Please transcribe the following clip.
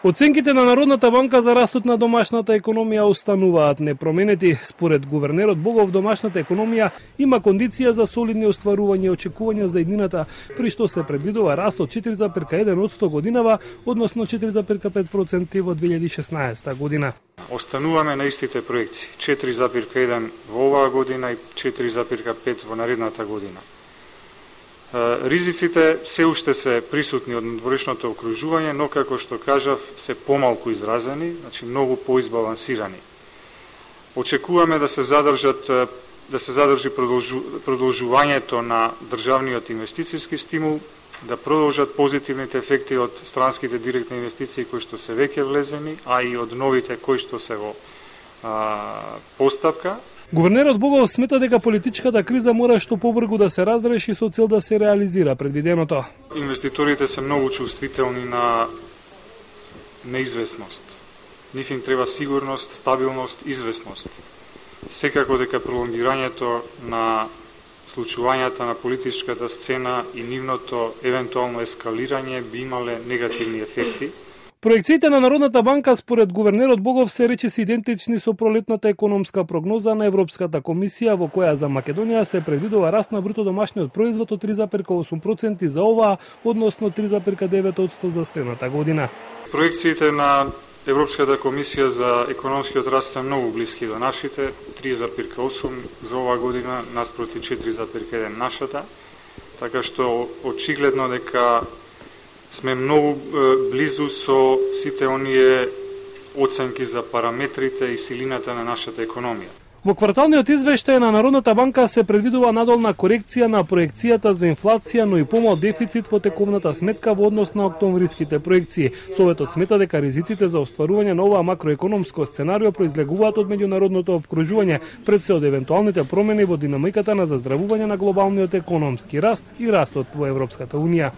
Оценките на Народната банка за растот на домашната економија остануваат непроменети. Според гувернерот Богов, домашната економија има кондиција за солидни остварувања и очекувања за иднината, при што се предвидува раст од 4,1% годинава, односно 4,5% во 2016 година. Остануваме на истите проекции, 4,1 во оваа година и 4,5 во наредната година. Ризиците се уште се присутни од надворешното окружување, но како што кажав, се помалку изразени, значи многу поизбалансирани. Очекуваме да се задржи продолжувањето на државниот инвестициски стимул, да продолжат позитивните ефекти од странските директни инвестиции кои што се веќе влезени, а и од новите кои што се во постапка. Гувернерот Богов смета дека политичката криза мора што побрзо да се разреши со цел да се реализира предвиденото. Инвеститорите се многу чувствителни на неизвестност. Нив им треба сигурност, стабилност, известност. Секако дека пролонгирањето на случувањата на политичката сцена и нивното евентуално ескалирање би имале негативни ефекти. Проекциите на Народната банка според гувернерот Богов се речиси идентични со пролетната економска прогноза на Европската комисија, во која за Македонија се предвидува раст на бруто домашниот производ од 3,8% за оваа, односно 3,9% за следната година. Проекциите на Европската комисија за економскиот раст се многу блиски до нашите, 3,8 за оваа година наспроти 4,1 нашата, така што очигледно дека сме многу близу со сите оние оценки за параметрите и силината на нашата економија. Во кварталниот извештај на Народната банка се предвидува надолна корекција на проекцијата за инфлација, но и помал дефицит во тековната сметка во однос на октомвриските проекции. Советот смета дека ризиците за остварување на оваа макроекономско сценарио произлегуваат од меѓународното опкружување, пред се од евентуалните промени во динамиката на заздравување на глобалниот економски раст и растот во Европската унија.